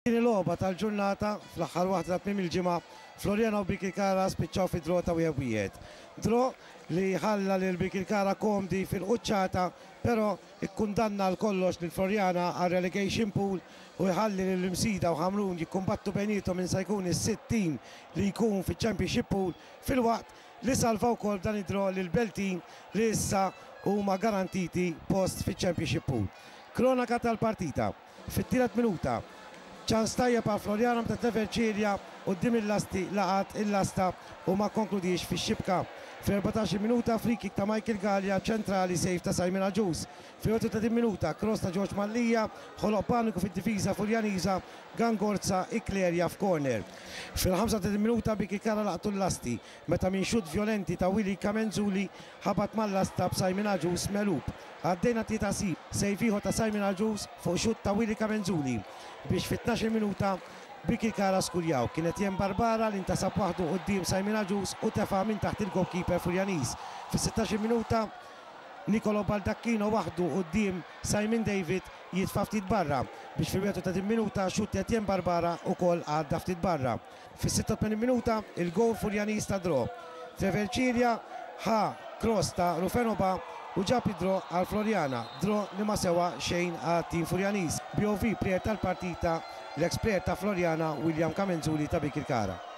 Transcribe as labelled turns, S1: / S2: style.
S1: Fit-tieni logħba tal-ġurnata, fl-aħħar waħda ta' tmiem il-ġimgħa, Floriana u Birkirkara spiċċaw fi draw ta' wieħed b'wieħed. Draw li ħalla lil Birkirkara komdi fil-quċċata, però kkundanna għal kollox lil Floriana għar-relegation pool u jħalli lil Msida u Ħamrun jikkumbattu bejniethom min se jkun is-sitt tim li jkun fiċ-Championship pool filwaqt li salva wkoll b'dan id-draw lill-Beltin li issa huma garantiti post fiċ-Championship pool. Kronaka tal-partita. Fit-tielet minuta, ċans tajjeb għal Floriana meta Trevor Cilia quddiem il-lasti laqat il-lasta u ma kkonkludiex fix-xibka. Fl-14-il minuta, free-kick ta' Michael Galea ċentrali save ta' Simon Agius. Fil-31 minuta, cross ta' George Mallia ħoloq paniku fid-difiża Furjaniża, Gangorza ikklerja f'corner. Fil-35 minuta Bikikara laqtu l-lasti meta minn xutt vjolenti ta' Willy Camenzuli ħabat mal-lasta b'Simon Agius megħlub. Għaddejna tlieta sib, save ieħor ta' Simon Agius fuq xutt ta' Willy Camenzuli biex fit-tnax-il minuta Birkirkara skurjaw. Kien Etienne Barbara li ntasab waħdu quddiem Simon Agius u tefa' minn taħt il-goalkeeper Furjaniż. Fis-sittax-il minuta Nicolo Baldacchino waħdu quddiem Simon David jitfa' ftit barra biex fil-31 minuta xutt Etienne Barbara ukoll għadda ftit barra. Fis-86 minuta, il-gowl Furjaniż tad-draw. Trevor Cilia ħa cross ta' Rufeno Ba u ġab id-draw għal Floriana, draw li ma sewa xejn għat-tim Furjaniż. BOV player tal-partita l-eks player ta' Floriana William Camenzuli ta' Birkirkara.